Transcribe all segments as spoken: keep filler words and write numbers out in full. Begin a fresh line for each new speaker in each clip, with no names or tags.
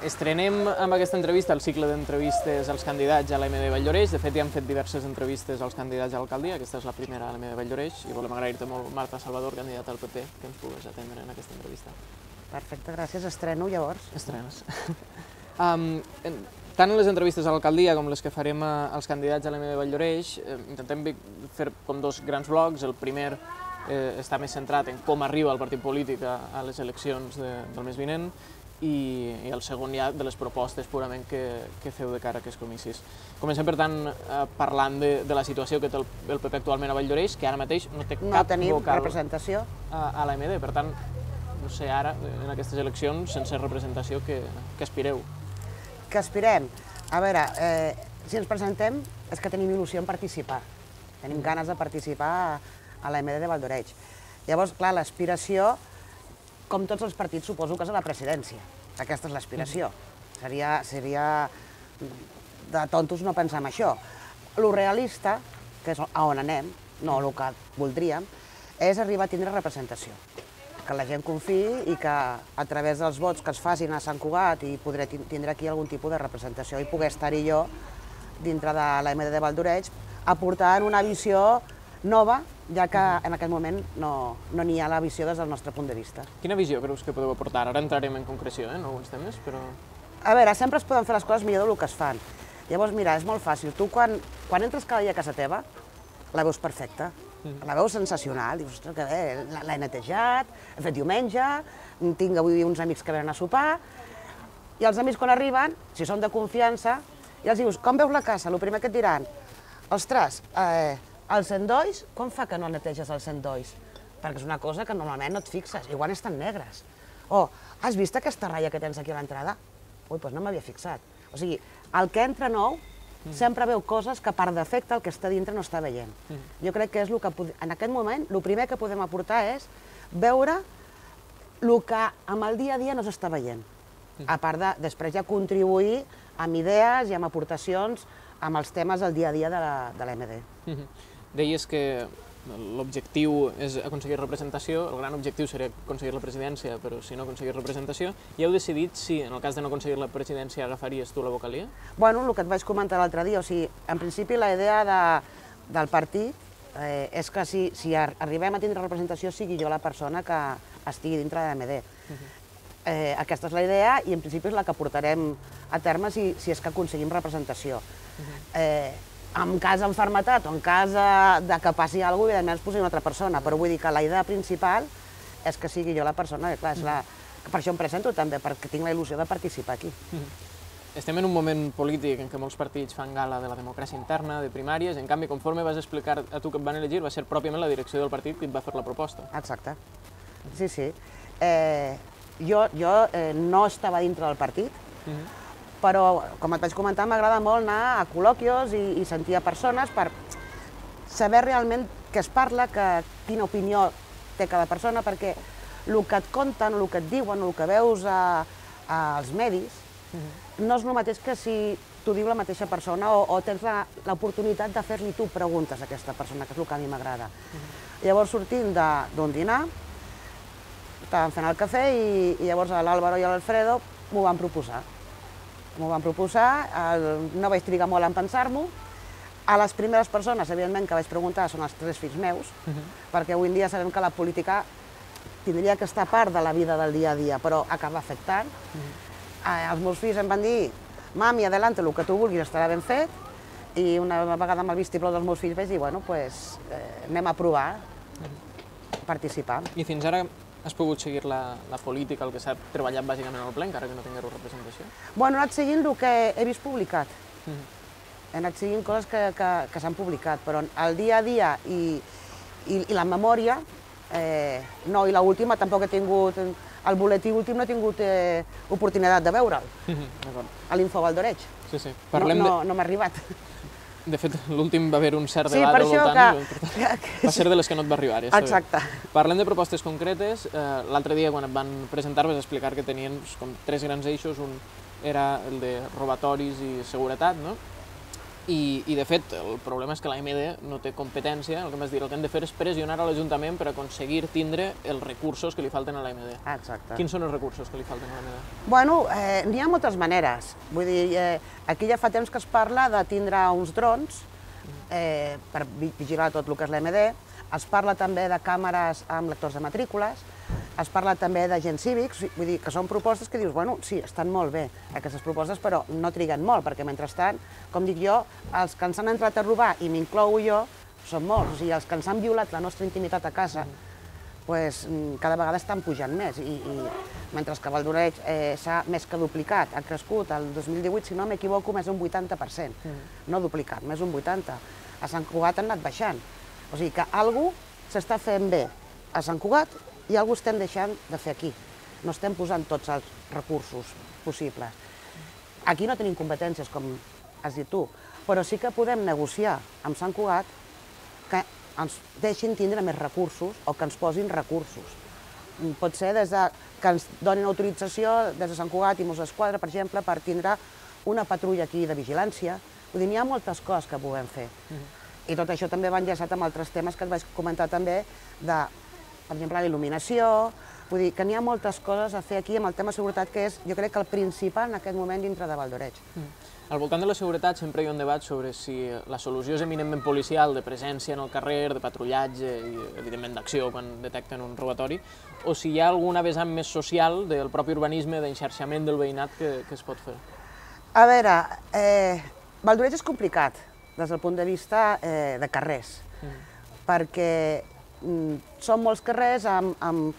Estrenem amb aquesta entrevista el cicle d'entrevistes als candidats a l'A M D Valldoreix. De fet, ja hem fet diverses entrevistes als candidats a l'alcaldia. Aquesta és la primera a l'A M D Valldoreix i volem agrair-te molt, Marta Salvador, candidata al P P, que ens pugues atendre en aquesta entrevista.
Perfecte, gràcies. Estreno, llavors.
Estrenes. um, tant en les entrevistes a l'alcaldia com les que farem als candidats a l'A M D Valldoreix, eh, intentem fer com dos grans blocs. El primer eh, està més centrat en com arriba el partit polític a, a les eleccions de, del mes vinent, i, i el segon ja de les propostes purament que, que feu de cara a aquests comicis. Comencem, per tant, eh, parlant de, de la situació que té el, el P P actualment a Valldoreix, que ara mateix no té
no
cap
tenim
vocal
representació
a, a l'A M D. Per tant, no sé, ara, en aquestes eleccions, sense representació, que, que aspireu?
Que aspirem? A veure, eh, si ens presentem és que tenim il·lusió en participar. Tenim ganes de participar a, a l'A M D de Valldoreix. Llavors, clar, l'aspiració, com tots els partits, suposo que és a la presidència. Aquesta és l'aspiració. Seria, seria de tontos no pensar en això. Lo realista, que és a on anem, no el que voldríem, és arribar a tindre representació. Que la gent confiï i que a través dels vots que es facin a Sant Cugat i podré tindre aquí algun tipus de representació i poder estar-hi jo dintre de l'A M D de Valldoreix aportant una visió nova, ja que en aquest moment no n'hi ha la visió des del nostre punt de vista.
Quina visió creus que podeu aportar? Ara entrarem en concreció en alguns temes, però...
A veure, sempre es poden fer les coses millor del que es fan. Llavors, mira, és molt fàcil. Tu, quan entres cada dia a casa teva, la veus perfecta, la veus sensacional, dius, ostres, que bé, l'he netejat, he fet diumenge, tinc avui uns amics que venen a sopar, i els amics quan arriben, si són de confiança, i els dius, com veus la casa? El primer que et diran, ostres, eh, els endolls, com fa que no neteges els endolls? Perquè és una cosa que normalment no et fixes, igual estan negres. O, has vist aquesta ratlla que tens aquí a l'entrada? Ui, doncs no m'havia fixat. O sigui, el que entra nou sempre veu coses que per defecte el que està dintre no està veient. Jo crec que és el que, en aquest moment, el primer que podem aportar és veure el que amb el dia a dia no s'està veient. A part de, després ja contribuir amb idees i amb aportacions amb els temes del dia a dia de l'A M D.
Deies que l'objectiu és aconseguir representació, el gran objectiu seria aconseguir la presidència, però si no aconseguir representació, i heu decidit si, en el cas de no aconseguir la presidència, agafaries tu la vocalia?
Bueno, el que et vaig comentar l'altre dia, o sigui, en principi la idea del partit és que si arribem a tindre representació sigui jo la persona que estigui dintre de l'A M D. Aquesta és la idea i en principi és la que portarem a terme si és que aconseguim representació. En cas d'enfermetat o en cas de que passi alguna cosa, evidentment es posi una altra persona, però vull dir que la idea principal és que sigui jo la persona, que clar, per això em presento també, perquè tinc la il·lusió de participar aquí.
Estem en un moment polític en què molts partits fan gala de la democràcia interna, de primàries, en canvi, conforme vas explicar a tu que et van elegir, va ser pròpiament la direcció del partit que et va fer la proposta.
Exacte. Sí, sí. Jo no estava dintre del partit, però, com et vaig comentar, m'agrada molt anar a col·loquios i sentir a persones per saber realment què es parla, quina opinió té cada persona, perquè el que et conten, el que et diuen, el que veus als medis, no és el mateix que si t'ho diu la mateixa persona o tens l'oportunitat de fer-li tu preguntes a aquesta persona, que és el que a mi m'agrada. Llavors, sortint d'un dinar, estàvem fent el cafè i llavors l'Àlvaro i l'Alfredo m'ho van proposar. M'ho van proposar, no vaig trigar molt en pensar-m'ho. A les primeres persones, evidentment, que vaig preguntar són els tres fills meus, perquè avui en dia sabem que la política tindria que estar a part de la vida del dia a dia, però acaba afectant. Els meus fills em van dir, mami, adelante, el que tu vulguis estarà ben fet, i una vegada amb el vistiplau dels meus fills vaig dir, bueno, doncs anem a provar, participar.
I fins ara has pogut seguir la política, el que s'ha treballat bàsicament al ple, encara que no tingueu representació?
Bueno, he anat seguint el que he vist publicat. He anat seguint coses que s'han publicat, però el dia a dia i la memòria, no, i l'última tampoc he tingut, el boletí últim no he tingut oportunitat de veure'l, a l'Info Valldoreix.
Sí, sí.
No m'ha arribat.
De fet, l'últim va haver un cert debat al voltant, va ser de les que no et va arribar.
Exacte.
Parlem de propostes concretes. L'altre dia, quan et van presentar, vas explicar que tenien tres grans eixos. Un era el de robatoris i seguretat, no? I, i de fet, el problema és que l'A M D no té competència, el que m'has dit, el que hem de fer és pressionar a l'Ajuntament per aconseguir tindre els recursos que li falten a l'A M D.
Exacte.
Quins són els recursos que li falten a l'A M D?
Bueno, eh, n'hi ha moltes maneres. Vull dir, eh, aquí ja fa temps que es parla de tindre uns drons eh, per vigilar tot el que és l'A M D. Es parla també de càmeres amb lectors de matrícules, es parla també d'agents cívics, vull dir que són propostes que dius, bueno, sí, estan molt bé aquestes propostes, però no triguen molt, perquè mentrestant, com dic jo, els que ens han entrat a robar, i m'inclou jo, són molts, o sigui, els que ens han violat la nostra intimitat a casa, pues, cada vegada estan pujant més, i, i mentre que Valdoreig eh, s'ha més que duplicat, ha crescut el dos mil divuit, si no m'equivoco, més d'un vuitanta per cent, no duplicat, més d'un vuitanta. A Sant Cugat han anat baixant, o sigui que algú s'està fent bé a Sant Cugat i algú estem deixant de fer aquí. No estem posant tots els recursos possibles. Aquí no tenim competències, com has dit tu, però sí que podem negociar amb Sant Cugat que ens deixin tindre més recursos o que ens posin recursos. Pot ser des de, que ens donin autorització des de Sant Cugat i Mossos d'Esquadra, per exemple, per tindre una patrulla aquí de vigilància. Vull dir, n'hi ha moltes coses que podem fer. I tot això també va enllaçat amb altres temes que et vaig comentar també de, per exemple, la il·luminació. Vull dir que n'hi ha moltes coses a fer aquí amb el tema de seguretat, que és, jo crec, que el principal en aquest moment dintre de Valdoreig.
Al voltant de la seguretat sempre hi ha un debat sobre si la solució és eminentment policial, de presència en el carrer, de patrullatge i, evidentment, d'acció quan detecten un robatori, o si hi ha alguna vessant més social del propi urbanisme, d'enxarxament del veïnat que, que es pot fer.
A veure, eh, Valdoreig és complicat des del punt de vista eh, de carrers, mm. perquè mm, són molts carrers amb, amb,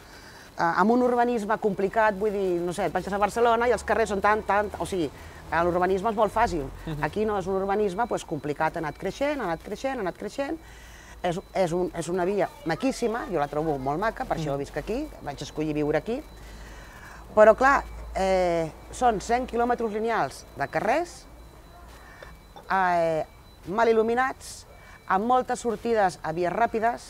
amb un urbanisme complicat, vull dir, no sé, et vaig a Barcelona i els carrers són tan, tan... O sigui, l'urbanisme és molt fàcil. Mm-hmm. Aquí no és un urbanisme pues, complicat, ha anat creixent, ha anat creixent, ha anat creixent. És, és, un, és una via maquíssima, jo la trobo molt maca, per mm. això visc aquí, vaig escollir viure aquí. Però, clar, eh, són cent quilòmetres lineals de carrers, eh, mal il·luminats, amb moltes sortides a vies ràpides,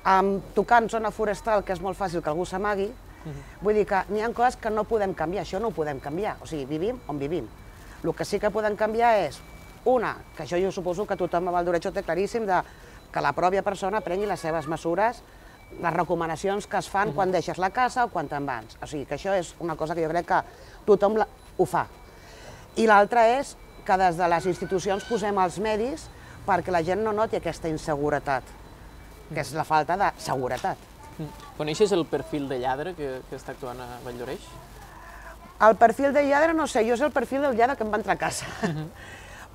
amb tocant zona forestal, que és molt fàcil que algú s'amagui. Uh-huh. Vull dir que n'hi ha coses que no podem canviar, això no ho podem canviar, o sigui, vivim on vivim. El que sí que podem canviar és, una, que això jo suposo que tothom a Valdoreig ho té claríssim, de que la pròpia persona prengui les seves mesures, les recomanacions que es fan uh-huh. quan deixes la casa o quan te'n vas. O sigui, que això és una cosa que jo crec que tothom la, ho fa. I l'altra és que des de les institucions posem els medis perquè la gent no noti aquesta inseguretat, que és la falta de seguretat.
Coneixes el perfil de lladre que, que està actuant a Valldoreix?
El perfil de lladre no sé, jo sé el perfil del lladre que em va entrar a casa. Uh-huh.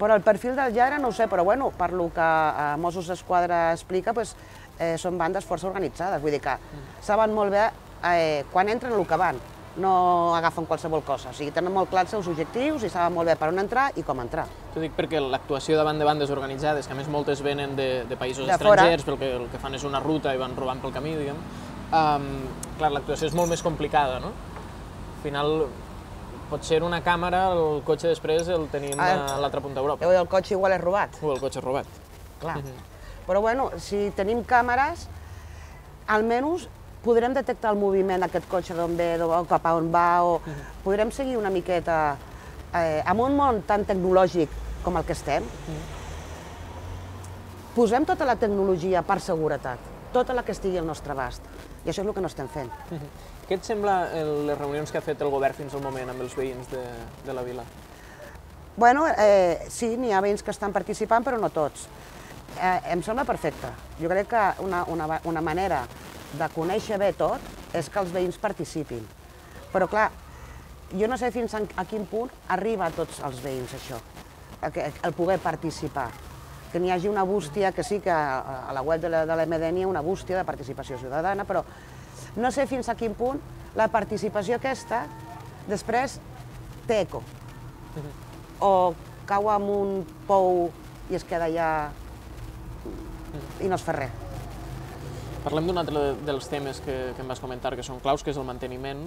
Però el perfil del lladre no ho sé, però bueno, per lo que eh, Mossos d'Esquadra explica, pues, eh, són bandes força organitzades, vull dir que uh-huh. saben molt bé eh, quan entren el que van. No agafen qualsevol cosa, o sigui, tenen molt clars els seus objectius i saben molt bé per on entrar i com entrar.
T'ho dic perquè l'actuació davant de bandes organitzades, que a més moltes venen de, de països de estrangers, perquè el que fan és una ruta i van robant pel camí, diguem, um, clar, l'actuació és molt més complicada, no? Al final, pot ser una càmera, el cotxe després el tenim a l'altra punta d'Europa.
O el cotxe igual és robat.
O el cotxe és robat.
Clar. Però bueno, si tenim càmeres, almenys podrem detectar el moviment d'aquest cotxe d'on ve, o cap a on va, o podrem seguir una miqueta eh, en un món tan tecnològic com el que estem. Posem tota la tecnologia per seguretat, tota la que estigui al nostre abast, i això és el que no estem fent.
Què et sembla les reunions que ha fet el govern fins al moment amb els veïns de, de la vila?
Bueno, eh, sí, n'hi ha veïns que estan participant, però no tots. Eh, em sembla perfecte. Jo crec que una, una, una manera de conèixer bé tot és que els veïns participin. Però clar, jo no sé fins a quin punt arriba a tots els veïns això, el poder participar. Que n'hi hagi una bústia, que sí que a la web de l'A M D n'hi ha una bústia de participació ciutadana, però no sé fins a quin punt la participació aquesta després té eco. O cau en un pou i es queda allà i no es fa res.
Parlem d'un altre dels temes que, que em vas comentar, que són claus, que és el manteniment.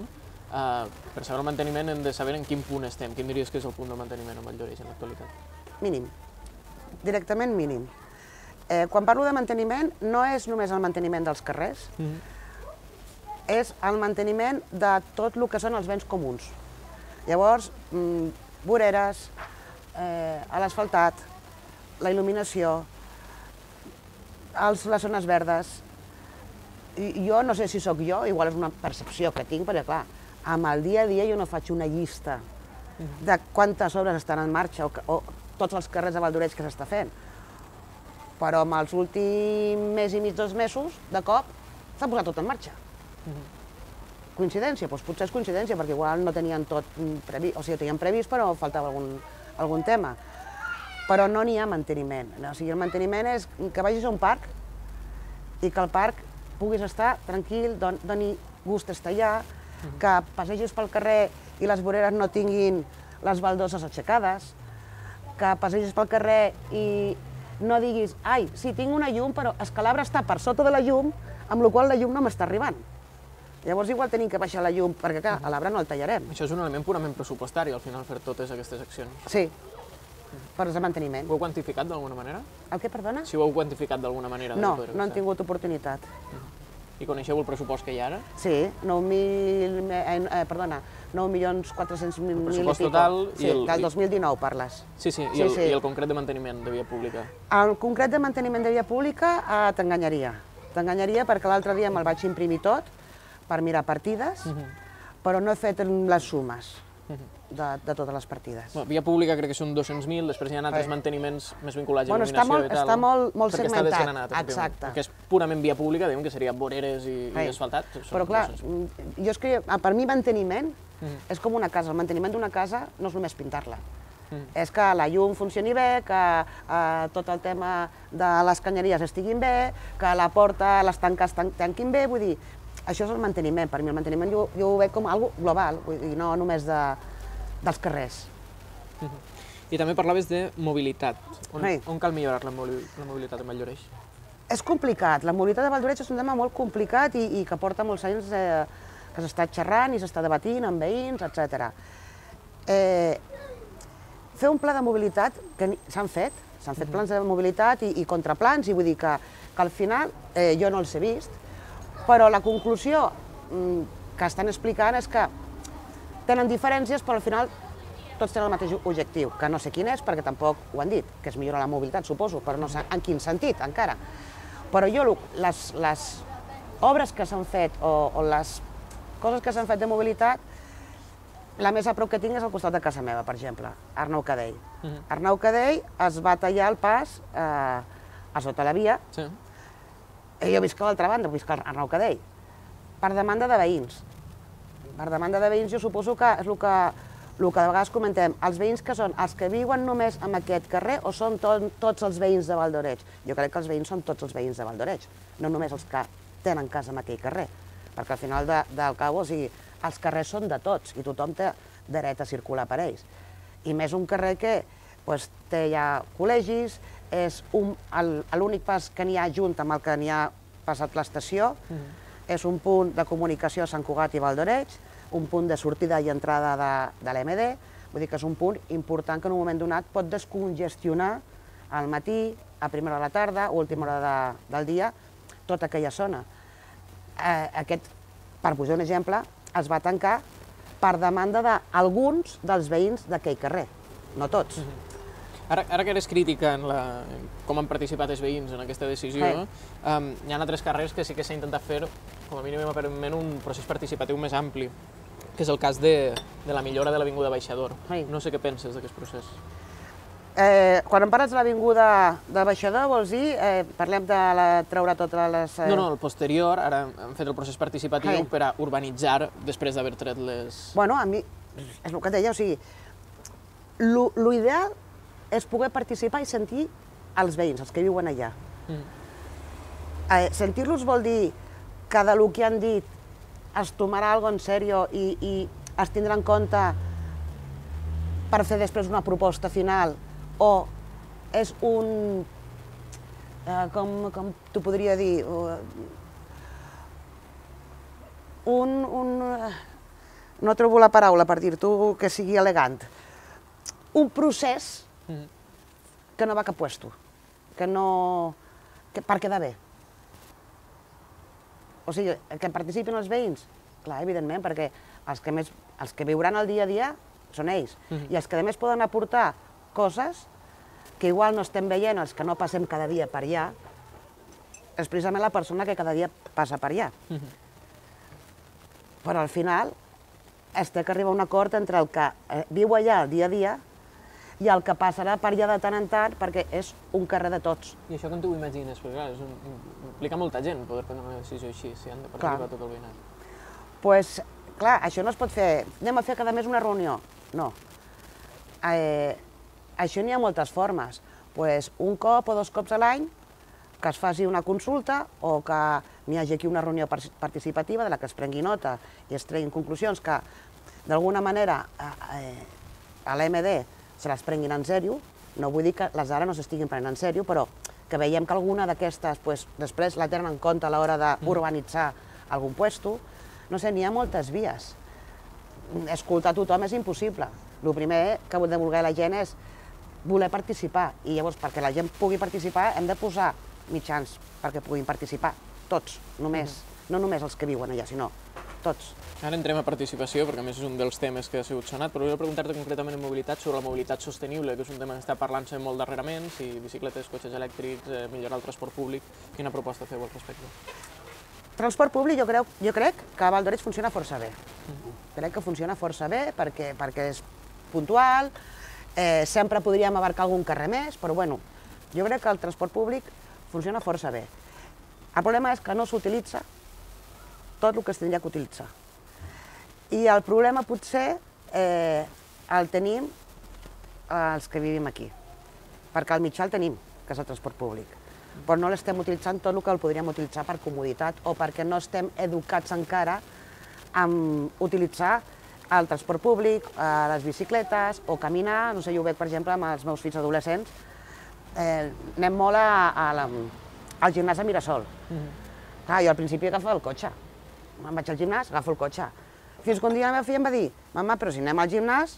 Uh, per saber el manteniment hem de saber en quin punt estem. Quin diries que és el punt del manteniment a Valldoreix en l'actualitat?
Mínim. Directament mínim. Eh, quan parlo de manteniment, no és només el manteniment dels carrers, mm-hmm. és el manteniment de tot el que són els béns comuns. Llavors, mm, voreres, eh, a l'asfaltat, la il·luminació, les zones verdes. Jo no sé si sóc jo, igual és una percepció que tinc, perquè clar, amb el dia a dia jo no faig una llista de quantes obres estan en marxa o tots els carrers de Valdoreig que s'està fent. Però amb els últims mes i mig, dos mesos, de cop, s'ha posat tot en marxa. Coincidència? Doncs potser és coincidència, perquè igual no tenien tot previst, o sigui, ho tenien previst, però faltava algun tema. Però no n'hi ha manteniment. O sigui, el manteniment és que vagis a un parc i que el parc puguis estar tranquil, doni gust estar allà, que passegis pel carrer i les voreres no tinguin les baldoses aixecades, que passegis pel carrer i no diguis, ai, sí, tinc una llum, però és que l'arbre està per sota de la llum, amb la qual cosa la llum no m'està arribant. Llavors igual tenim que baixar la llum, perquè clar, a l'arbre no el tallarem.
Això és un element purament pressupostari, al final, fer totes aquestes accions.
Sí, per de manteniment.
Ho heu quantificat d'alguna manera?
El què, perdona?
Si ho heu quantificat d'alguna manera?
No, no han tingut oportunitat.
I coneixeu el pressupost que hi ha ara?
Sí, nou mil, perdona, nou milions quatre-cents mil i pico.
El pressupost total...
Sí, del dos mil dinou parles.
Sí, sí, i el concret de manteniment de via pública?
El concret de manteniment de via pública t'enganyaria. T'enganyaria perquè l'altre dia me'l vaig imprimir tot per mirar partides, però no he fet les sumes de totes les partides.
Via pública crec que són dos-cents mil, després hi ha altres manteniments més vinculats a il·luminació i tal.
Està molt segmentat.
Perquè està desgranat,
exacte.
Que és purament via pública, diguem que seria voreres i asfaltat.
Però clar, jo és que per mi manteniment és com una casa. El manteniment d'una casa no és només pintar-la. És que la llum funcioni bé, que tot el tema de les canyeries estiguin bé, que la porta, les tanques tanquin bé, vull dir, això és el manteniment. Per mi el manteniment jo ho veig com algo global, i no només dels carrers.
I també parlaves de mobilitat. On cal millorar la mobilitat a Valldoreix?
És complicat. La mobilitat a Valldoreix és un tema molt complicat i que porta molts anys que s'està xerrant i s'està debatint amb veïns, etcètera. Fer un pla de mobilitat, que s'han fet, s'han fet plans de mobilitat i contraplans, i vull dir que al final jo no els he vist, però la conclusió que estan explicant és que tenen diferències, però al final tots tenen el mateix objectiu, que no sé quin és, perquè tampoc ho han dit, que és millorar la mobilitat, suposo, però no sé en quin sentit, encara. Però jo, les obres que s'han fet o les coses que s'han fet de mobilitat, la més a prop que tinc és al costat de casa meva, per exemple, Arnau Cadell. Arnau Cadell es va tallar el pas a sota la via, i jo visc a l'altra banda, visc a Arnau Cadell, per demanda de veïns. Per demanda de veïns jo suposo que és el que de vegades comentem, els veïns que són els que viuen només en aquest carrer o són tots els veïns de Valldoreix? Jo crec que els veïns són tots els veïns de Valldoreix, no només els que tenen casa en aquell carrer, perquè al final del cabo, o sigui, els carrers són de tots i tothom té dret a circular per ells. I més un carrer que té ja col·legis, és l'únic pas que n'hi ha junt amb el que n'hi ha passat l'estació, és un punt de comunicació a Sant Cugat i Valldoreix, un punt de sortida i entrada de l'E M D, vull dir que és un punt important que en un moment donat pot descongestionar al matí, a primera hora de la tarda o última hora del dia, tota aquella zona. Aquest, per posar un exemple, es va tancar per demanda d'alguns dels veïns d'aquell carrer, no tots.
Ara que eres crítica en com han participat els veïns en aquesta decisió, hi ha altres carrers que sí que s'ha intentat fer, com a mínim aparentment, un procés participatiu més ampli, que és el cas de la millora de l'Avinguda Baixador. No sé què penses d'aquest procés.
Quan em parles de l'Avinguda de Baixador, vols dir, parlem de treure totes les...
No, no, el posterior, ara hem fet el procés participatiu per a urbanitzar després d'haver tret les...
Bueno, a mi, és el que et deia, o sigui, l'ideal és poder participar i sentir els veïns, els que viuen allà. Sentir-los vol dir que del que han dit es tomarà alguna cosa en sèrio i es tindrà en compte per fer després una proposta final o és un... com t'ho podria dir? Un... no trobo la paraula per dir-t'ho que sigui elegant. Un procés que no va a cap puesto, que no... per quedar bé. O sigui, que participin els veïns? Clar, evidentment, perquè els que viuran el dia a dia són ells. I els que a més poden aportar coses que igual no estem veient els que no passem cada dia per allà, és precisament la persona que cada dia passa per allà. Però al final es té que arribar a un acord entre el que viu allà el dia a dia i el que passarà per allà de tant en tant, perquè és un carrer de tots.
I això com t'ho imagines? Perquè clar, és un, implica molta gent poder prendre una decisió així, si han de participar tot el veïnat.
Doncs, pues, clar, això no es pot fer, anem a fer cada mes una reunió. No. Eh, això n'hi ha moltes formes. Pues, un cop o dos cops a l'any que es faci una consulta o que n'hi hagi aquí una reunió participativa de la que es prengui nota i es treguin conclusions que d'alguna manera eh, a l'A M D se les prenguin en sèrio. No vull dir que les d'ara no s'estiguin prenent en sèrio, però que veiem que alguna d'aquestes pues, després la tenen en compte a l'hora d'urbanitzar algun puesto. No sé, n'hi ha moltes vies. Escoltar tothom és impossible. El primer que hem de voler la gent és voler participar. I llavors, perquè la gent pugui participar, hem de posar mitjans perquè puguin participar. Tots, només. No només els que viuen allà, sinó tots.
Ara entrem a participació, perquè a més és un dels temes que ha sigut sonat, però vull preguntar-te concretament en mobilitat sobre la mobilitat sostenible, que és un tema que està parlant-se molt darrerament, si bicicletes, cotxes elèctrics, eh, millorar el transport públic. Quina proposta feu al respecte?
Transport públic jo, creu, jo crec que a Val d'Oreig funciona força bé. Crec que funciona força bé perquè, perquè és puntual, eh, sempre podríem abarcar algun carrer més, però bueno, jo crec que el transport públic funciona força bé. El problema és que no s'utilitza tot el que es tindria que utilitzar. I el problema potser eh, el tenim els que vivim aquí, perquè el mitjà el tenim, que és el transport públic, però no l'estem utilitzant tot el que el podríem utilitzar per comoditat o perquè no estem educats encara en utilitzar el transport públic, les bicicletes o caminar. No sé, jo ho veig, per exemple, amb els meus fills adolescents, eh, anem molt a, a la, al gimnàs a Mirasol. Clar, jo al principi agafava el cotxe. Me'n vaig al gimnàs, agafo el cotxe. Fins que un dia la meva filla em va dir: mama, però si anem al gimnàs,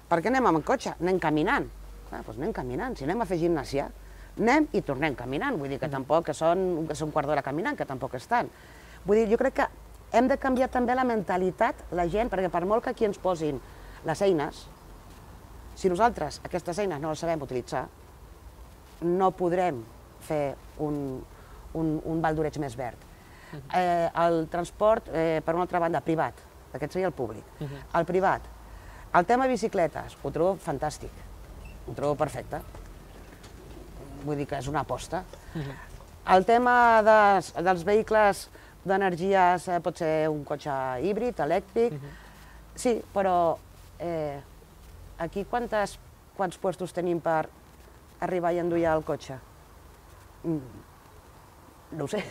per què anem amb el cotxe? Anem caminant. Clar, doncs anem caminant. Si anem a fer gimnàsia, anem i tornem caminant. Vull dir que tampoc que són, que són un quart d'hora caminant, que tampoc és tant. Vull dir, jo crec que hem de canviar també la mentalitat, la gent, perquè per molt que aquí ens posin les eines, si nosaltres aquestes eines no les sabem utilitzar, no podrem fer un, un, un Val d'Oreig més verd. Eh, el transport, eh, per una altra banda, privat, aquest seria el públic. El privat, el tema bicicletes, ho trobo fantàstic, ho trobo perfecte. Vull dir que és una aposta. El tema des, dels vehicles d'energies eh, pot ser un cotxe híbrid, elèctric, sí, però eh, aquí quantes, quants puestos tenim per arribar i endollar el cotxe? Mm, no ho sé.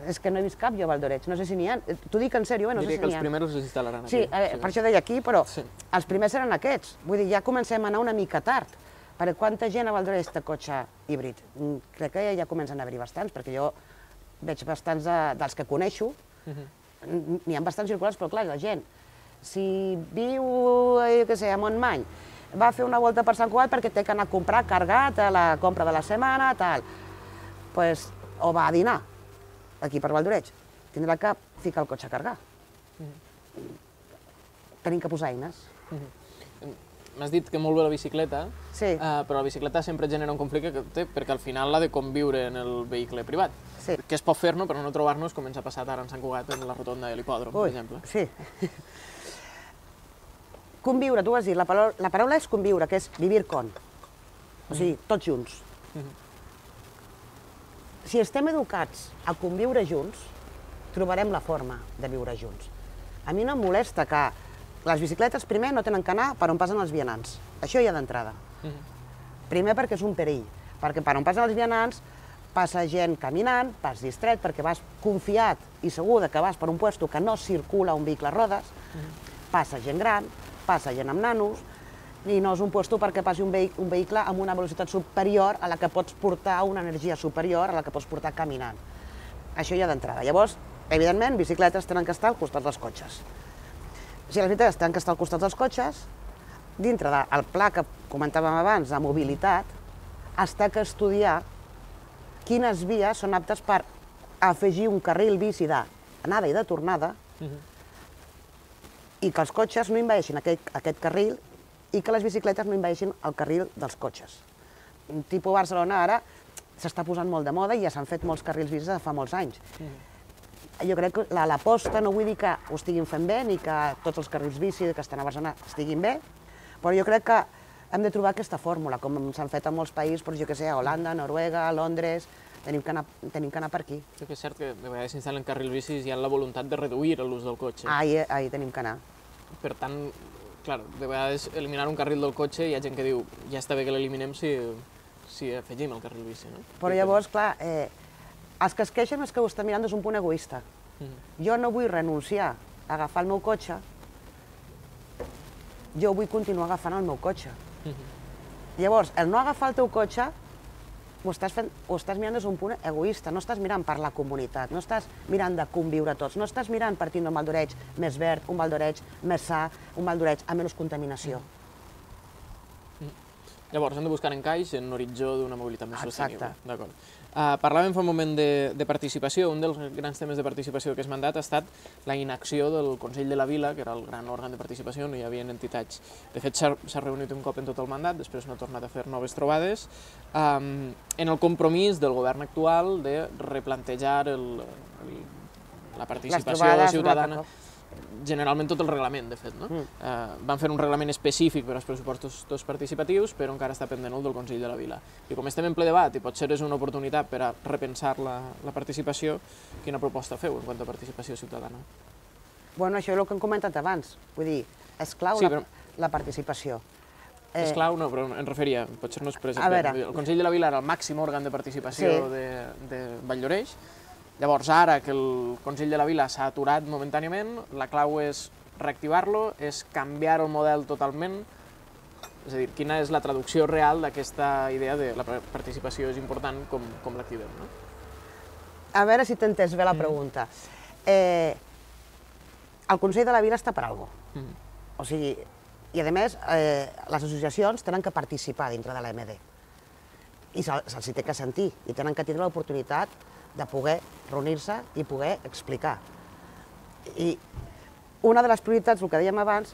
És que no he vist cap jo a Val d'Oreig, no sé si n'hi ha. T'ho dic en sèrio, eh? No sé si n'hi ha.
Diria que els primers els instal·laran aquí.
Sí, eh, per això deia aquí, però els primers eren aquests. Vull dir, ja comencem a anar una mica tard, perquè quanta gent a Val d'Oreig té cotxe híbrid? Crec que ja comencen a haver-hi bastants, perquè jo veig bastants dels que coneixo, n'hi ha bastants circulars, però clar, la gent, si viu, jo què sé, a Montmany, va a fer una volta per Sant Cugat perquè té que anar a comprar cargat a la compra de la setmana, tal, pues, o va a dinar aquí per Val d'Oreig, tindrà que ficar el cotxe a cargar. Tenim que posar eines.
M'has dit que molt bé la bicicleta,
sí.
uh, però la bicicleta sempre genera un conflicte que té, perquè al final l'ha de conviure en el vehicle privat.
Sí.
Que es pot fer-no, però no trobar-nos com ens ha passat ara en Sant Cugat, en la rotonda de l'hipòdrom, per exemple.
Sí. Conviure, tu has dit, la paraula, la paraula és conviure, que és vivir con. O sigui, tots junts. Si estem educats a conviure junts, trobarem la forma de viure junts. A mi no em molesta que les bicicletes primer no tenen que anar per on passen els vianants. Això ja d'entrada. Primer perquè és un perill, perquè per on passen els vianants passa gent caminant, vas distret, perquè vas confiat i segur que vas per un lloc que no circula un vehicle a rodes, passa gent gran, passa gent amb nanos, i no és un lloc perquè passi un vehicle amb una velocitat superior a la que pots portar, una energia superior a la que pots portar caminant. Això ja d'entrada. Llavors, evidentment, bicicletes tenen que estar al costat dels cotxes. Si les bicicletes tenen que estar al costat dels cotxes, dintre del pla que comentàvem abans de mobilitat, es té que estudiar quines vies són aptes per afegir un carril bici d'anada i de tornada i que els cotxes no envaeixin aquest, aquest carril i que les bicicletes no invadeixin el carril dels cotxes. Tipus Barcelona ara s'està posant molt de moda i ja s'han fet molts carrils bicis de fa molts anys. Jo crec que l'aposta, no vull dir que ho estiguin fent bé ni que tots els carrils bici que estan a Barcelona estiguin bé, però jo crec que hem de trobar aquesta fórmula, com s'han fet en molts països, però jo què sé, a Holanda, Noruega, Londres, tenim que anar, tenim que anar per aquí.
Sí que és cert que de vegades s'instal·len carrils bicis i hi ha la voluntat de reduir l'ús del cotxe.
Ahí, ahí tenim que anar.
Per tant, clar, de vegades eliminar un carril del cotxe hi ha gent que diu ja està bé que l'eliminem si, si afegim el carril bici, no?
Però llavors, clar, eh, els que es queixen és que ho estan mirant des d'un punt egoista. Jo no vull renunciar a agafar el meu cotxe, jo vull continuar agafant el meu cotxe. Llavors, el no agafar el teu cotxe ho estàs, fent, ho estàs mirant des d'un punt egoista, no estàs mirant per la comunitat, no estàs mirant de conviure tots, no estàs mirant per tindre un Val d'Oreig més verd, un Val d'Oreig més sa, un Val d'Oreig amb menys contaminació.
Llavors, hem de buscar encaix en l'horitzó d'una mobilitat més sostenible.
Exacte.
D'acord. Uh, parlàvem fa un moment de, de participació. Un dels grans temes de participació d'aquest mandat ha estat la inacció del Consell de la Vila, que era el gran òrgan de participació, no hi havia entitats. De fet, s'ha reunit un cop en tot el mandat, després no ha tornat a fer noves trobades, um, en el compromís del govern actual de replantejar el, el, la participació ciutadana. Generalment tot el reglament, de fet, no? Mm. Eh, van fer un reglament específic per als pressupostos participatius, però encara està pendent el del Consell de la Vila. I com estem en ple debat, i potser és una oportunitat per a repensar la, la participació, quina proposta feu en quant a participació ciutadana?
Bueno, això és el que hem comentat abans. Vull dir, és clau
sí,
la,
però...
la participació.
És
eh...
clau, no, però em referia, potser no és present. El Consell de la Vila era el màxim òrgan de participació sí. de, de Vall d'Oreix. Llavors, ara que el Consell de la Vila s'ha aturat momentàniament, la clau és reactivar-lo, és canviar el model totalment, és a dir, quina és la traducció real d'aquesta idea de la participació és important com, com l'activem, no?
A veure si t'he entès bé la pregunta. Eh, el Consell de la Vila està per alguna cosa. Mm. O sigui, i a més, eh, les associacions tenen que participar dintre de l'A M D. I se'ls se té que sentir, i tenen que tindre l'oportunitat de poder reunir-se i poder explicar. I una de les prioritats, el que dèiem abans,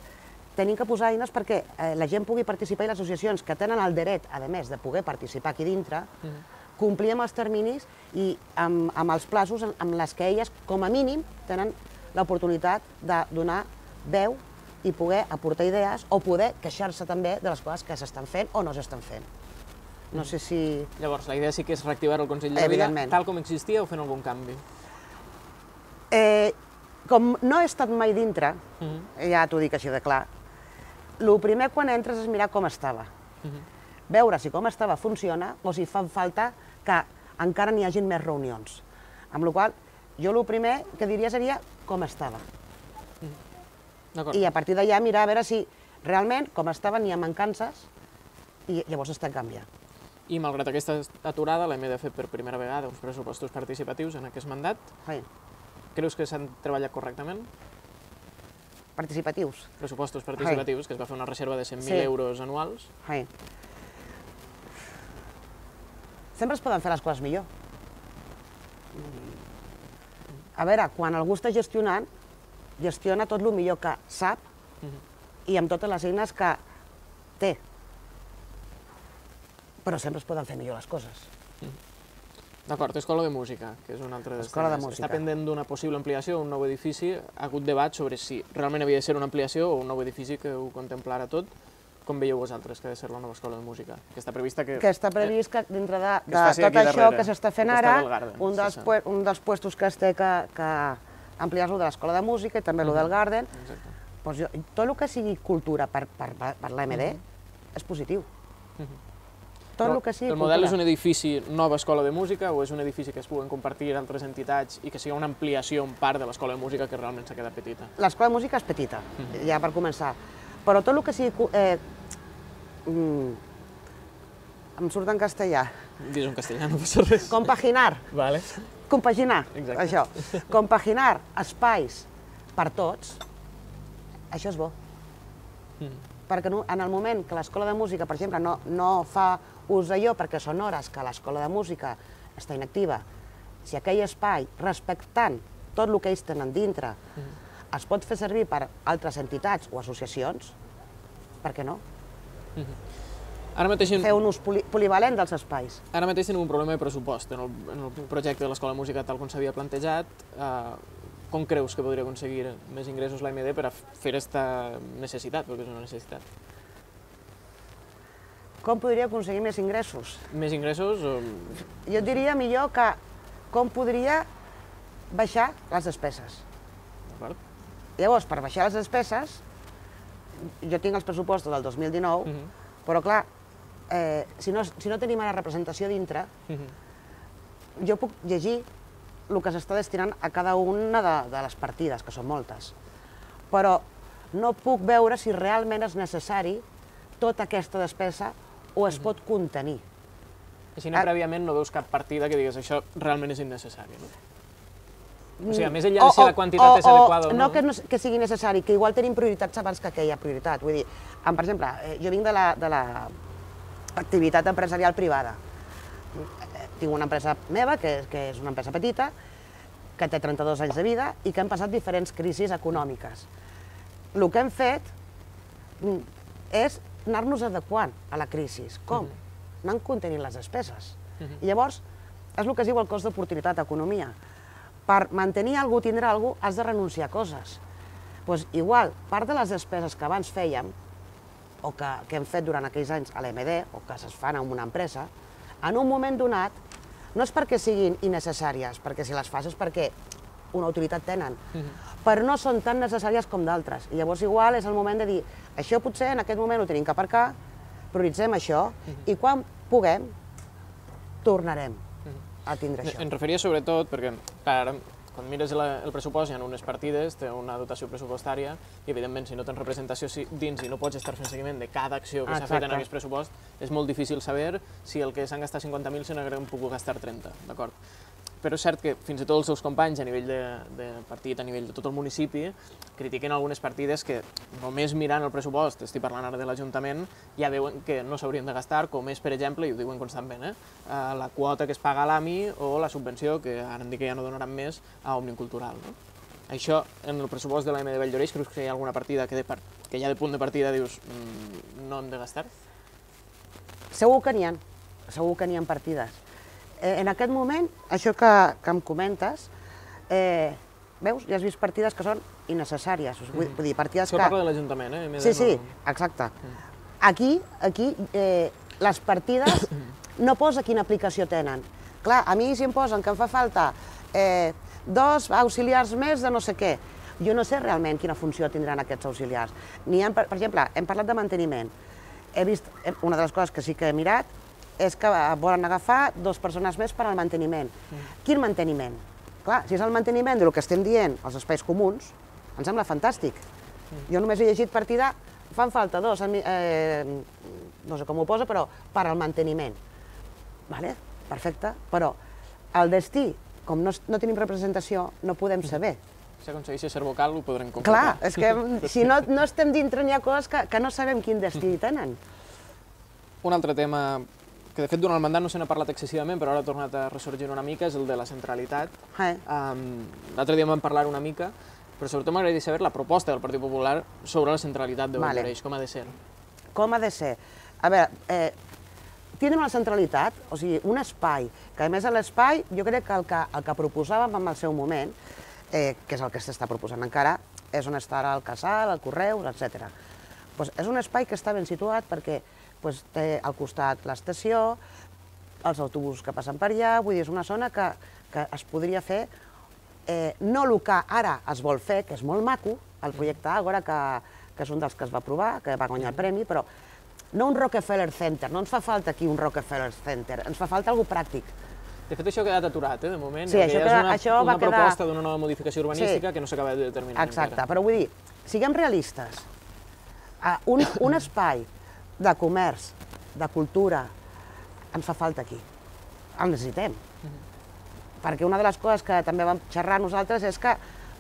tenim que posar eines perquè eh, la gent pugui participar i les associacions que tenen el dret, a més, de poder participar aquí dintre, mm. complir amb els terminis i amb, amb els plaços amb les que elles, com a mínim, tenen l'oportunitat de donar veu i poder aportar idees o poder queixar-se també de les coses que s'estan fent o no s'estan fent. No sé si...
Llavors, la idea sí que és reactivar el Consell de la Vila, tal com existia, o fent algun canvi?
Eh, com no he estat mai dintre, uh -huh. ja t'ho dic així de clar, el primer quan entres és mirar com estava. Uh -huh. Veure si com estava funciona o si fa falta que encara n'hi hagin més reunions. Amb la qual cosa, jo el primer que diria seria com estava. Uh -huh. I a partir d'allà mirar a veure si realment com estava n'hi ha mancances i llavors està canviant.
I malgrat aquesta aturada, l'hem de fer per primera vegada uns pressupostos participatius en aquest mandat.
Sí.
Creus que s'han treballat correctament?
Participatius?
Pressupostos participatius, sí. Que es va fer una reserva de cent mil sí. euros anuals.
Sí. Sempre es poden fer les coses millor. A veure, quan algú està gestionant, gestiona tot el millor que sap uh-huh. i amb totes les eines que té. Però sempre es poden fer millor les coses.
D'acord, Escola de Música, que és un altre dels
Escola de Música.
Està pendent d'una possible ampliació, un nou edifici. Ha hagut debat sobre si realment havia de ser una ampliació o un nou edifici que ho contemplara tot. Com veieu vosaltres que ha de ser la nova Escola de Música? Que està prevista que...
Que està previst que dintre de, de tot això que s'està fent ara, un dels, un dels puestos que es té que, que ampliar-lo de l'Escola de Música i també el del Garden. Doncs jo, tot el que sigui cultura per, per, per l'A M D és positiu. Tot el que sigui
el model és un edifici nova Escola de Música o és un edifici que es puguen compartir altres entitats i que sigui una ampliació en part de l'Escola de Música que realment s'ha quedat petita?
L'Escola de Música és petita, ja per començar. Però tot el que sigui... Eh, mm, em surt en castellà.
Dis en castellà, no passa res.
Compaginar.
Vale.
Compaginar, exacte. Això. Compaginar espais per tots, això és bo. Mm. Perquè en el moment que l'Escola de Música, per exemple, no, no fa ús d'allò perquè són hores que l'Escola de Música està inactiva, si aquell espai, respectant tot el que ells tenen dintre, mm. es pot fer servir per altres entitats o associacions, per què no?
Ara mateix,
fer un ús polivalent dels espais.
Ara mateix tenim un problema de pressupost en el, en el projecte de l'Escola de Música tal com s'havia plantejat. Eh, com creus que podria aconseguir més ingressos l'A M D per a fer aquesta necessitat, perquè és una necessitat?
Com podria aconseguir més ingressos?
Més ingressos? O...
Jo diria millor que com podria baixar les despeses.
D'acord.
Llavors, per baixar les despeses, jo tinc els pressupostos del dos mil dinou, uh -huh. però clar, eh, si, no, si no tenim ara representació dintre, uh -huh. jo puc llegir el que s'està destinant a cada una de, de les partides, que són moltes. Però no puc veure si realment és necessari tota aquesta despesa o es uh -huh. pot contenir.
Així, ah. prèviament no veus cap partida que digues això realment és innecessari, no? O sigui, més enllà de si la quantitat és adequada o no...
No que, no que sigui necessari, que igual tenim prioritats abans que aquella prioritat. Vull dir, per exemple, jo vinc de l'activitat empresarial privada. Tinc una empresa meva, que és una empresa petita, que té trenta-dos anys de vida i que hem passat diferents crisis econòmiques. El que hem fet és anar-nos adequant a la crisi. Com? Anant contenint les despeses. I llavors, és el que es diu el cost d'oportunitat d'economia. Per mantenir algú, tindre algú, has de renunciar a coses. Doncs igual, part de les despeses que abans fèiem, o que, que hem fet durant aquells anys a l'A M D, o que es fan en una empresa, en un moment donat, no és perquè siguin innecessàries, perquè si les fas és perquè una utilitat tenen, però no són tan necessàries com d'altres. I llavors igual és el moment de dir, això potser en aquest moment ho tenim que aparcar, prioritzem això, i quan puguem, tornarem a tindre això.
Em referia sobretot perquè, clar, quan mires el pressupost hi ha unes partides, té una dotació pressupostària i, evidentment, si no tens representació dins i no pots estar fent seguiment de cada acció que s'ha fet en aquest pressupost, és molt difícil saber si el que s'han gastat cinquanta mil se n'haurien pogut gastar trenta, d'acord? Però és cert que fins i tot els seus companys a nivell de partit, a nivell de tot el municipi, critiquen algunes partides que només mirant el pressupost, estic parlant ara de l'Ajuntament, ja veuen que no s'haurien de gastar, com és, per exemple, i ho diuen constantment, la quota que es paga a l'A M I o la subvenció, que ara em dic que ja no donaran més, a Òmnium Cultural. Això, en el pressupost de l'A M de Valldoreix, creus que hi ha alguna partida que ja de punt de partida dius no hem de gastar?
Segur que n'hi ha, segur que n'hi ha partides. En aquest moment, això que em comentes, veus, ja has vist partides que són innecessàries, vull dir, partides que...
Això parla de l'Ajuntament, eh?
Sí, sí, exacte. Aquí, aquí, les partides no posa quina aplicació tenen. Clar, a mi si em posen que em fa falta dos auxiliars més de no sé què, jo no sé realment quina funció tindran aquests auxiliars. Per exemple, hem parlat de manteniment. He vist, una de les coses que sí que he mirat, és que volen agafar dues persones més per al manteniment. Quin manteniment? Clar, si és el manteniment del que estem dient, els espais comuns, em sembla fantàstic. Jo només he llegit partida, fan falta dos, no sé com ho posa, però per al manteniment. Vale, perfecte, però el destí, com no tenim representació, no podem saber.
Si aconsegueix ser vocal, ho podrem concretar.
Clar, és que si no estem dintre n'hi ha coses que no sabem quin destí tenen.
Un altre tema que de fet durant el mandat no se n'ha parlat excessivament, però ara ha tornat a ressorgir una mica, és el de la centralitat. L'altre dia en vam parlar una mica, però sobretot m'agradaria saber la proposta del Partit Popular sobre la centralitat de Valldoreix, com ha de ser.
Com ha de ser? A veure, tindre una centralitat, o sigui, un espai, que a més l'espai, jo crec que el que proposàvem en el seu moment, que és el que s'està proposant encara, és on estarà el casal, el Correus, etcètera. És un espai que està ben situat perquè té al costat l'estació, els autobusos que passen per allà, vull dir, és una zona que es podria fer, no el que ara es vol fer, que és molt maco, el projecte Àgora, que és un dels que es va aprovar, que va guanyar el premi, però no un Rockefeller Center, no ens fa falta aquí un Rockefeller Center, ens fa falta alguna cosa pràctic.
De fet, això ha quedat aturat, de moment,
sí, això
és una proposta d'una nova modificació urbanística que no s'acaba de determinar encara.
Exacte, però vull dir, siguem realistes. Un espai de comerç, de cultura, ens fa falta aquí. El necessitem. Perquè una de les coses que també vam xerrar nosaltres és que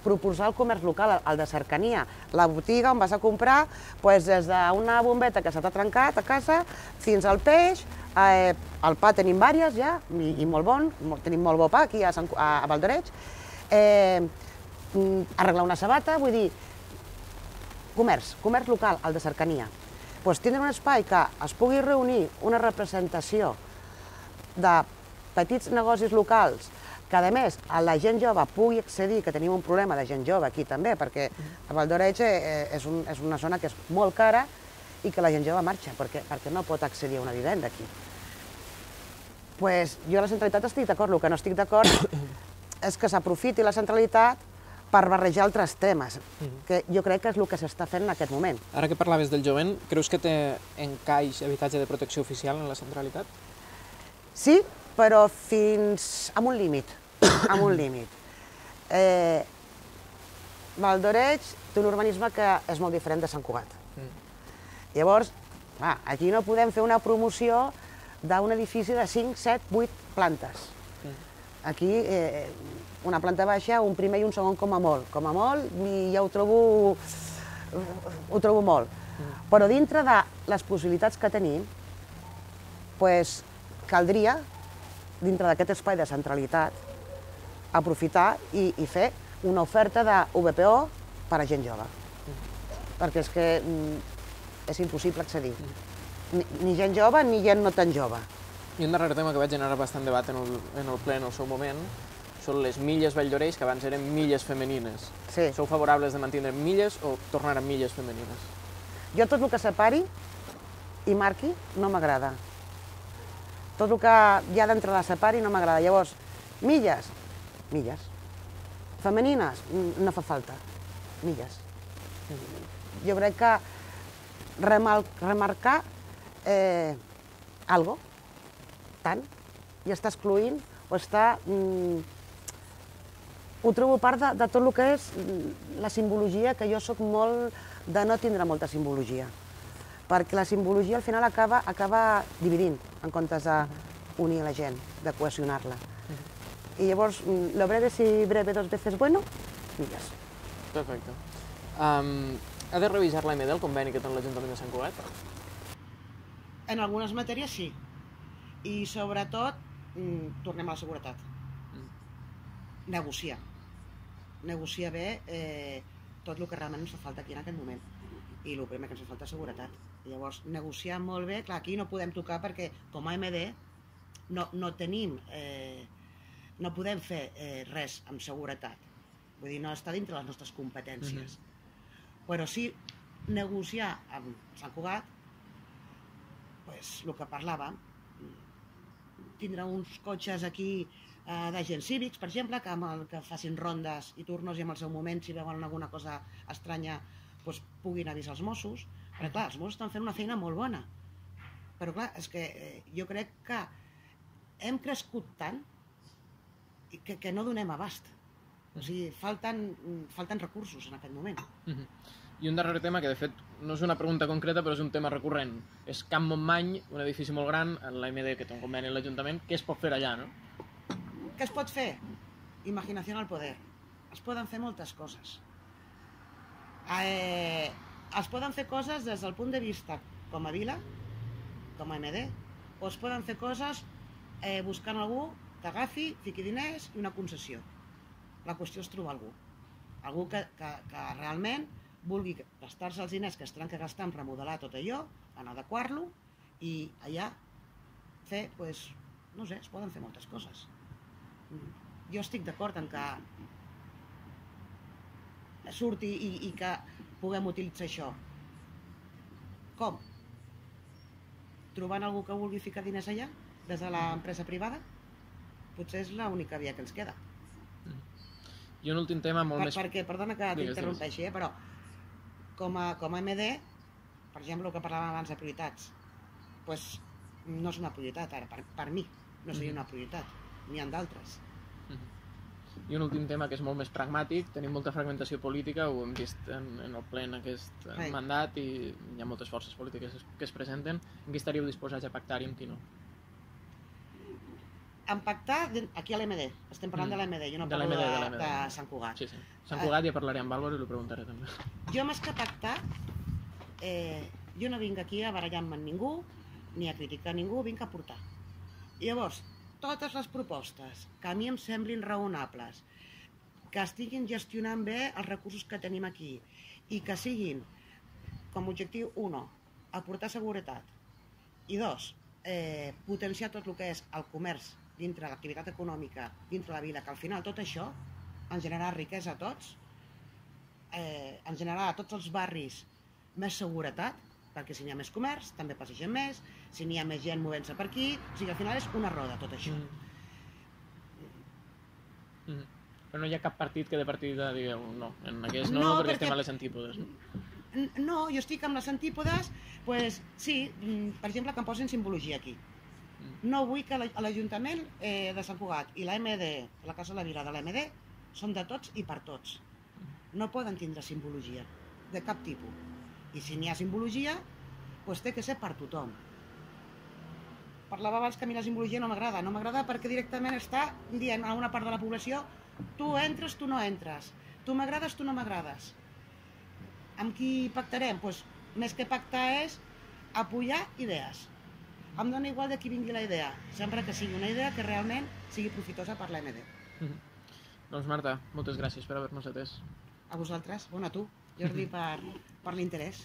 proposar el comerç local, el de cercania, la botiga on vas a comprar des d'una bombeta que se t'ha trencat a casa fins al peix, el pa tenim diverses ja, i molt bon, tenim molt bo pa aquí a Valldoreix, arreglar una sabata, vull dir, comerç, comerç local, el de cercania. doncs tindre un espai que es pugui reunir una representació de petits negocis locals, que a més la gent jove pugui accedir, que tenim un problema de gent jove aquí també, perquè a Val d'Oreig és una zona que és molt cara i que la gent jove marxa, perquè no pot accedir a una vivenda aquí. Doncs jo a la centralitat estic d'acord, el que no estic d'acord és que s'aprofiti la centralitat per barrejar altres temes, que jo crec que és el que s'està fent en aquest moment.
Ara que parlaves del jovent, creus que té encaix habitatge de protecció oficial en la centralitat?
Sí, però fins a un límit, a un límit. Val d'Oreig té un urbanisme que és molt diferent de Sant Cugat. Llavors, aquí no podem fer una promoció d'un edifici de cinc, set, vuit plantes. Aquí, una planta baixa, un primer i un segon com a molt. Com a molt, i ja ho trobo, ho trobo molt. Però dintre de les possibilitats que tenim, doncs caldria, dintre d'aquest espai de centralitat, aprofitar i fer una oferta de U B P O per a gent jove. Perquè és que és impossible accedir. Ni gent jove ni gent no tan jove.
I un darrer tema que va generar bastant debat en el ple en el seu moment són les milles Vall d'Oreig, que abans eren milles femenines. Sou favorables de mantenir milles o tornar a milles femenines?
Jo tot el que separi i marqui no m'agrada. Tot el que hi ha d'entre la separi no m'agrada. Llavors, milles, milles. Femenines, no fa falta. Milles. Jo crec que remarcar algo, tant, i està excloent o està... Ho trobo part de tot el que és la simbologia, que jo soc molt de no tindre molta simbologia, perquè la simbologia al final acaba dividint en comptes d'unir la gent, de cohesionar-la. I llavors, lo breve si breve dos veces bueno, milles.
Perfecte. Ha de revisar l'A M D el conveni que té l'Ajuntament de Sant Cugat?
En algunes matèries sí. I sobretot, tornem a la seguretat. Negociar. Negociar bé tot el que realment ens fa falta aquí en aquest moment. I el primer que ens fa falta és seguretat. Llavors, negociar molt bé, clar, aquí no podem tocar perquè com a A M D no tenim, no podem fer res amb seguretat. Vull dir, no està dintre les nostres competències. Però sí negociar amb Sant Cugat, el que parlàvem, tindre uns cotxes aquí d'agents cívics, per exemple, que facin rondes i turnos i en el seu moment, si veuen alguna cosa estranya, puguin avisar els Mossos. Perquè, clar, els Mossos estan fent una feina molt bona. Però, clar, és que jo crec que hem crescut tant que no donem abast. O sigui, falten recursos en aquest moment.
I un darrer tema que, de fet, no és una pregunta concreta, però és un tema recurrent. És Camp Montmany, un edifici molt gran, l'A M D que té un conveni amb l'Ajuntament. Què es pot fer allà, no?
Què es pot fer? Imaginació al poder. Es poden fer moltes coses. Es poden fer coses des del punt de vista com a vila, com a A M D, o es poden fer coses buscant algú que agafi, fiqui diners i una concessió. La qüestió és trobar algú. Algú que realment vulgui gastar-se els diners que es tenen que gastar en remodelar tot allò, en adequar-lo, i allà fer, doncs, no sé, es poden fer moltes coses. Jo estic d'acord en que surti i que puguem utilitzar això. Com? Trobant algú que vulgui ficar diners allà, des de l'empresa privada? Potser és l'única via que ens queda.
I un últim tema molt més...
Perquè, perdona que t'interrompeixi, però com a A M D, per exemple, el que parlàvem abans de prioritats, doncs no és una prioritat ara, per mi no seria una prioritat, n'hi ha d'altres.
I un últim tema que és molt més pragmàtic, tenim molta fragmentació política, ho hem vist en el ple en aquest mandat i hi ha moltes forces polítiques que es presenten. En qui estaríeu disposats a pactar i en qui no?
En pactar aquí a l'A M D, estem parlant de l'A M D, jo no parlo de Sant Cugat.
Sí, sí. Sant Cugat ja parlaré amb Álvaro i ho preguntaré també.
Jo més que pactar, jo no vinc aquí a barallar-me amb ningú, ni a criticar ningú, vinc a portar. Llavors, totes les propostes que a mi em semblin raonables, que estiguin gestionant bé els recursos que tenim aquí i que siguin, com a objectiu, uno, aportar seguretat. I dos, eh, potenciar tot el que és el comerç dintre l'activitat econòmica, dintre la vida, que al final tot això ens generarà riquesa a tots, eh, ens generarà a tots els barris més seguretat, perquè si n'hi ha més comerç, també passegem més, si n'hi ha més gent movent-se per aquí, o sigui, al final és una roda tot això.
Mm. Mm. Però no hi ha cap partit que de partida digueu no, en aquest no,
No,
perquè
perquè-
estem a les antípodes.
N- No, jo estic amb les antípodes, pues, sí, mm, per exemple, que em posin simbologia aquí. No vull que l'A- l'Ajuntament eh, de Sant Cugat i la M D, la Casa de la Vila de l'A M D, són de tots i per tots. No poden tindre simbologia, de cap tipus. I si n'hi ha simbologia, doncs té que ser per tothom. Parlava abans que a mi la simbologia no m'agrada. No m'agrada perquè directament està dient a una part de la població tu entres, tu no entres. Tu m'agrades, tu no m'agrades. Amb qui pactarem? Doncs més que pactar és apoyar idees. Em dona igual de qui vingui la idea, sempre que sigui una idea que realment sigui profitosa per l'A M D.
Mm. Doncs Marta, moltes gràcies per haver-nos atès.
A vosaltres, bueno, a tu, Jordi, per, per l'interès.